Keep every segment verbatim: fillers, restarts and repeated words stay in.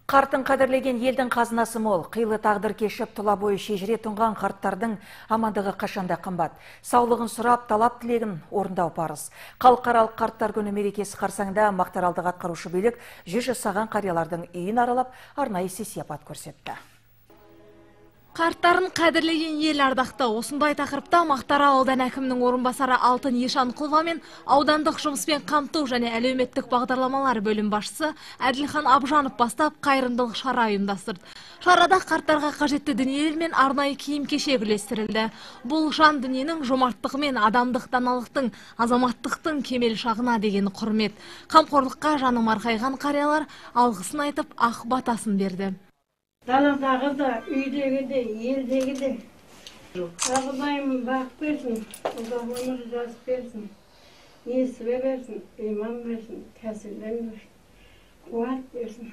Қартын қадірлеген елдің қазынасы мол, қилы тағдыр кешіп тұла бойы шежіре тұнған қарттардың амандығы қашанда қымбат. Саулығын сұрап, талап тілегін орындау парыз. Халықаралық қарттар күні мерекесі қарсаңда Мақтааралдық атқарушы билік жүз жасаған қариялардың үйін аралап, арнайы сый-сияпат көрсетті. Қарттарын қадірлеген ел ардақты. Осындай тақырыпта Мақтаарал ауданы әкімінің орынбасары Алтын Ешанқұлова мен аудандық жұмыспен қамту және әлеуметтік бағдарламалар бөлім басшысы Әділхан Абжанов бастап қайырымдылық шара ұйымдастырды. Шарада қарттарға қажетті дүниелер мен арнайы киім-кешек үлестірілді. Бұл жан дүниенің жомарттығы мен адамдық даналықтың, азаматтықтың кемел шағына деген құрмет. Қамқорлыққа жаны марқайған қариялар алғысын айтып, ақ батасын берді. Даладағы да, үйдегі де, елдегі де. Құдайым бақ берсін, ұзақ өмір жазып берсін, несібе берсін, иман берсін, кәсілден берсін, қуат берсін.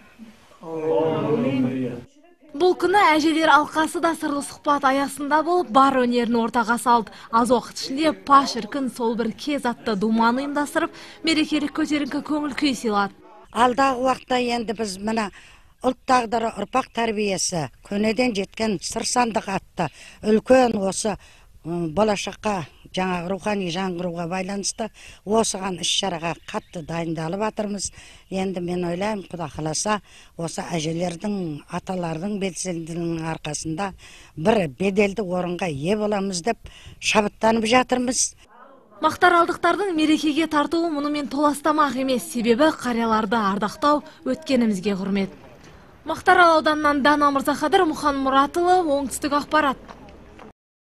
Бұл күні әжелер алқасы да сырлы сұхбат аясында болып, бар өнерін ортаға салды. Аз уақыт ішінде па шіркін сол бір кез атты думаны ұйымдастырып, мерекелік көтеріңкі көңіл күй сыйлады. Алдағы уақытта енді біз мына ұлт тағдыры ұрпақ тәрбиесі көнеден жеткен сыр сандық атты үлкен осы болашаққа жаңағы рухани жаңғыруға байланысты осыған іс-шараға қатты дайындалып жатырмыз. Енді мен ойлаймын, Құда қаласа осы әжелердің, аталардың белсенділігінің арқасында бір беделді орынға ие боламыз деп шабыттанып жатырмыз. Мақтааралдықтардың мерекеге тартуы мұнымен толастамақ емес, себебі қарияларды ардақтау өткенімізге құрмет. Мақтаарал ауданынан Дана Мырзахадыр, Мұхан Мұратұлы, оңтүстік ақпарат.